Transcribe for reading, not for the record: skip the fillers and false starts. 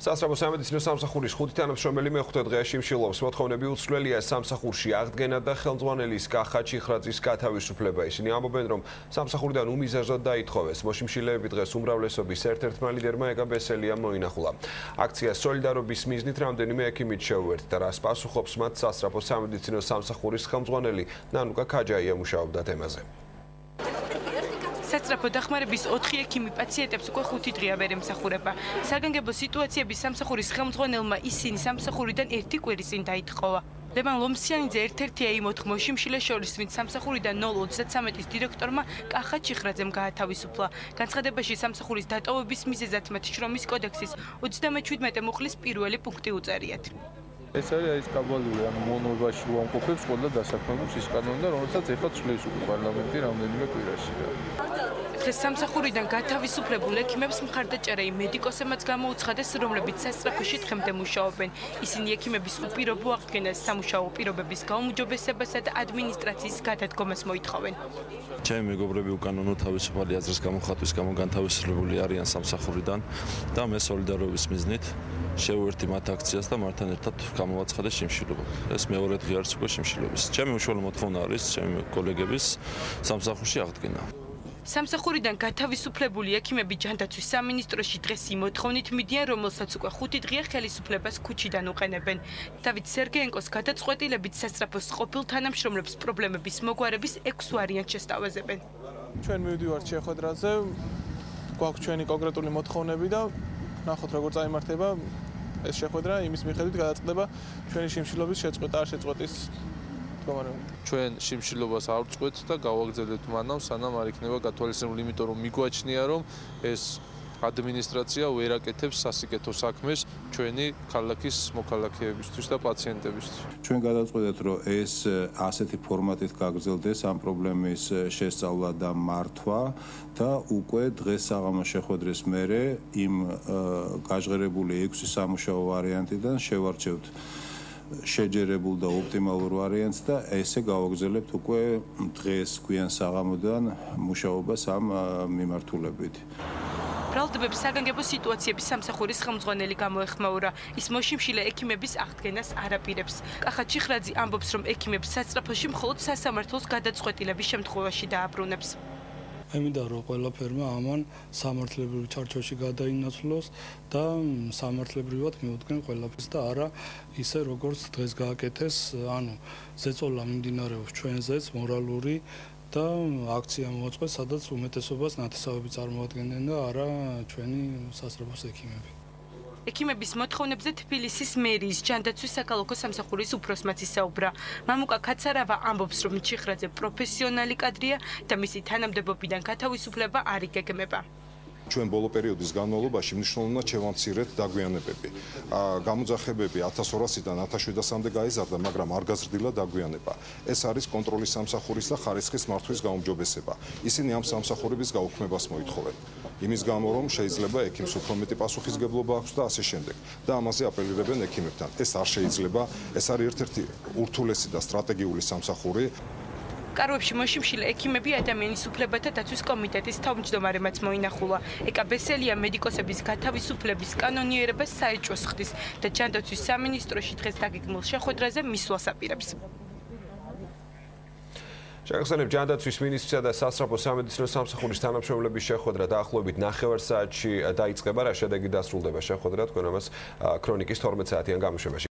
სასწრაფო სამედიცინო სამსახურის 5 თანამშრომელი მეხუთე დღეში მშილობს. მოთხოვნები უცვლელია სამსახურში აღდგენა და ხელმძღვანელის კახა ჩიხრაძის გათავისუფლება. ისინი ამბობენ, რომ სამსახურიდან უმიზეზოდ დაითხოვეს. მოშიმშილეები დღეს უმრავლესობის ერთ-ერთმა ლიდერმა ეგა ბესელიამ მოინახულა. აქცია სოლიდარობის მიზნით რამდენიმე ექიმით შეუერთდა, რას პასუხობს მათ სასწრაფო სამედიცინო სამსახურის ხელმძღვანელი ნანუკა ქაჯაია მუშაობდა თემაზე. სასწრაფო დახმარების 4 ექიმი პაციენტებს უკვე 5 დღეა ვერ ემსახურება. საგანგებო სიტუაციების სამსახურის ხელმძღვანელმა ისინი სამსახურიდან 1 კვირის წინ დაითხოვა. ლევან ლომსიანიძე ერთ-ერთია იმ 4 მოშიმშილეს შორის, ვინც სამსახურიდან 0-33-ის დირექტორმა კახა ჩიხრაძემ გაათავისუფლა. განცხადებაში სამსახურის დატოვების მიზეზად მათ შრომის კოდექსის 37 მუხლის პირველი პუნქტი უწერიათ. ეს არის კაბალური, ანუ მონობაში უამყოფებს ყველა დასაქმებულს ის კანონი, რომელსაც ეხლა ცვლის პარლამენტი რამდენიმე კვირაში. დღეს სამსახურიდან გათავისუფლებულ ექიმებს მხარდაჭერა იმ მედიკოსებმაც გამოუცხადეს, რომლებიც სასწრაფოში დღემდე მუშაობენ. ისინი ექიმების უპირობო აღდგენას, სამუშაო პირობების გაუმჯობესებასა და ადმინისტრაციის გადადგომას მოითხოვენ. ჩემი მეგობრები უკანონო თავისუფალი აზრის გამოხატვის გამო განთავისუფლებული არიან სამსახურიდან და მე სოლიდარობის მიზნით შევერთი მათ აქციას და მათთან ერთად გამოვაცხადე შიმშილობა. ეს მეორე დღე არის უკვე შიმშილობის. ჩემი უშუალო მოთხოვნა არის ჩემი კოლეგების სამსახურში აღდგენა. სამსახურიდან გათავისუფლებული ექიმები ჯანდაცვის სამინისტროში დღეს იმ მოთხოვნით მიდიან, რომელსაც უკვე 5 დღეა ხელისუფლებას ქუჩიდან უყენებენ. დავით სერგეენკოს გადაწყვეტილებით სასწრაფოს ყოფილ თანამშრომლებს პრობლემების მოგვარების 6 ვარიანტს შესთავაზებენ. ჩვენ მივდივართ შეხვედრაზე, გვაქვს ჩვენი კონკრეტული მოთხოვნები და ნახოთ როგორ წაიმართება ეს შეხვედრა, იმის მიხედვით გადაწყდება ჩვენი შიმშილობის შეწყვეტა არ შეწყვეტის ჩვენ შიმშილობას არ ვწყვეტთ და გავაგრძელებთ მანამ, სანამ არ იქნება გათვალისწინებული, იმიტომ რომ მიგვაჩნია, რომ ეს ადმინისტრაცია ვერ აკეთებს სასიკეთო საქმეს ჩვენი ქალაქის მოქალაქეებისთვის და პაციენტებისთვის. ჩვენ გადავწყვეტეთ, რომ ეს ასეთი ფორმატით გაგრძელდეს ამ პრობლემის შესწავლა და მართვა და უკვე დღეს საღამოს შეხვედრის მერე იმ გაჟღერებული 6 სამუშაო ვარიანტიდან შევარჩევთ შეჯერებულ და ოპტიმალურ ვარიანტს და ესე გავაგრძელებთ უკვე დღეს გვიან საღამოდან მუშაობას ამ მიმართულებით. ბრალდებებს საგანგებო სიტუაციების სამსახურის ხელმძღვანელი გამოეხმაურა. ის მოშიმშილე ექიმების აღდგენას არ აპირებს. კახა ჩიხრაძე ამბობს, რომ ექიმებს სასწრაფოში მხოლოდ სასამართლოს გადაწყვეტილების შემთხვევაში დააბრუნებს. ემიდა რომ ყველა ფერმა ამან სამართლებრივ ჩარჩოში გადაინაცვლოს და სამართლებრივად მიუდგენ ყველაფერს და არა ისე როგორც დღეს გააკეთეს, ანუ ზეწოლა მიმდინარეობს ჩვენზეც მორალური და აქცია მოაწყვეს, სადაც უმეტესობას ნათესავები წარმოადგენენ და არა ჩვენი სასწრაფოს ექიმები. ექიმების მოთხოვნებზე თბილისის მერიის ჯანდაცვის საქალაქო სამსახურის უფროსმაც ისაუბრა. მამუკა ქაცარავა ამბობს, რომ ჩიხრაძე პროფესიონალი კადრია და მისი თანამდებობიდან გათავისუფლება არ იგეგმება. ჩვენ ბოლო პერიოდის განმავლობაში მნიშვნელოვნად შევამცირეთ დაგვიანებები. გამოძახებები 1200-დან 1700-მდე გაიზარდა, მაგრამ არ გაზრდილა დაგვიანება. ეს არის კონტროლის სამსახურის და ხარისხის მართვის გაუმჯობესება. ისინი ამ სამსახურების გაუქმებას მოითხოვენ. იმის გამო, რომ შეიძლება ექიმს უფრო მეტი პასუხისგებლობა აქვს და ასე შემდეგ. და ამაზე აპელირებენ ექიმებთან. ეს არ შეიძლება, ეს არის ერთ-ერთი ურთულესი და სტრატეგიული სამსახური. კარვებში მოშიმშილე ექიმები ადამიანის უფლებათა დაცვის კომიტეტის თავმჯდომარემაც მოინახულა. ეკა ბესელია მედიკოსების გათავისუფლების კანონიერებას საეჭვოს ხდის და ჯანდაცვის სამინისტროში დღეს დაგეგმილ შეხვედრაზე მისვლას აპირებს. შეგახსენებთ, ჯანდაცვის მინისტრისა და სასწრაფო სამედიცინო სამსახურის თანამშრომლების შეხვედრა დაახლოებით 9 საათში დაიწყება, რა შედეგი დასრულდება შეხვედრა, თქვენ ამას ქრონიკის 12 საათიან გამოშვებაში